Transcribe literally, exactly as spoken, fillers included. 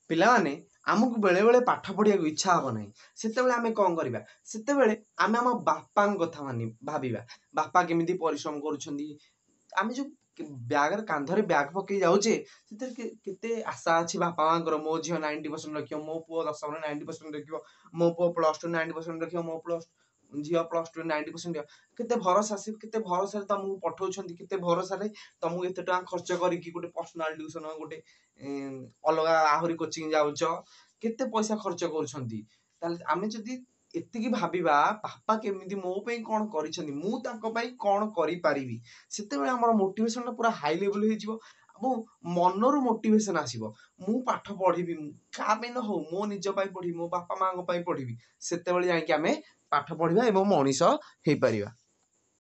ପିଲାମାନେ, ଆମକୁ ବେଳେବେଳେ ପାଠ ପଢ଼ିବାକୁ ଇଚ୍ଛା ହେବ ନାହିଁ। ସେତେବେଳେ ଆମେ କ'ଣ କରିବା? ସେତେବେଳେ ଆମେ ଆମ ବାପାଙ୍କ କଥା ମାନି ଭାବିବା, ବାପା କେମିତି ପରିଶ୍ରମ କରୁଛନ୍ତି। ଆମେ ଯେଉଁ ବ୍ୟାଗରେ, କାନ୍ଧରେ ବ୍ୟାଗ ପକେଇ ଯାଉଛେ, ସେଥିରେ କେତେ ଆଶା ଅଛି ବାପା ମାଆଙ୍କର। ମୋ ଝିଅ ନାଇଣ୍ଟି ପରସେଣ୍ଟ ରଖିବ, ମୋ ପୁଅ ଦଶମରେ ନାଇଣ୍ଟି ପରସେଣ୍ଟ ରଖିବ, ମୋ ପୁଅ ପ୍ଲସ୍ ଟୁ ନାଇଣ୍ଟି ପରସେଣ୍ଟ ରଖିବ, ମୋ ପ୍ଲସ୍ ଝିଅ ପ୍ଲସ୍ ଟୁ ନାଇଣ୍ଟି ପରସେଣ୍ଟ। କେତେ ଭରସା ସେ, କେତେ ଭରସାରେ ତମକୁ ପଠଉଛନ୍ତି, କେତେ ଭରସାରେ ତମକୁ ଏତେ ଟଙ୍କା ଖର୍ଚ୍ଚ କରିକି ଗୋଟେ ପର୍ସନାଲ ଟ୍ୟୁସନ, ଗୋଟେ ଅଲଗା ଆହୁରି କୋଚିଂ ଯାଉଛ, କେତେ ପଇସା ଖର୍ଚ୍ଚ କରୁଛନ୍ତି। ତାହେଲେ ଆମେ ଯଦି ଏତିକି ଭାବିବା, ବାପା କେମିତି ମୋ ପାଇଁ କ'ଣ କରିଛନ୍ତି, ମୁଁ ତାଙ୍କ ପାଇଁ କ'ଣ କରିପାରିବି, ସେତେବେଳେ ଆମର ମୋଟିଭେସନଟା ପୁରା ହାଇ ଲେଭେଲ ହେଇଯିବ ଏବଂ ମନରୁ ମୋଟିଭେସନ ଆସିବ, ମୁଁ ପାଠ ପଢ଼ିବି, କାହା ପାଇଁ ନ ହଉ ମୋ ନିଜ ପାଇଁ ପଢ଼ିବି, ମୋ ବାପା ମାଆଙ୍କ ପାଇଁ ପଢ଼ିବି। ସେତେବେଳେ ଯାଇକି ଆମେ ପାଠ ପଢ଼ିବା ଏବଂ ମଣିଷ ହେଇପାରିବା।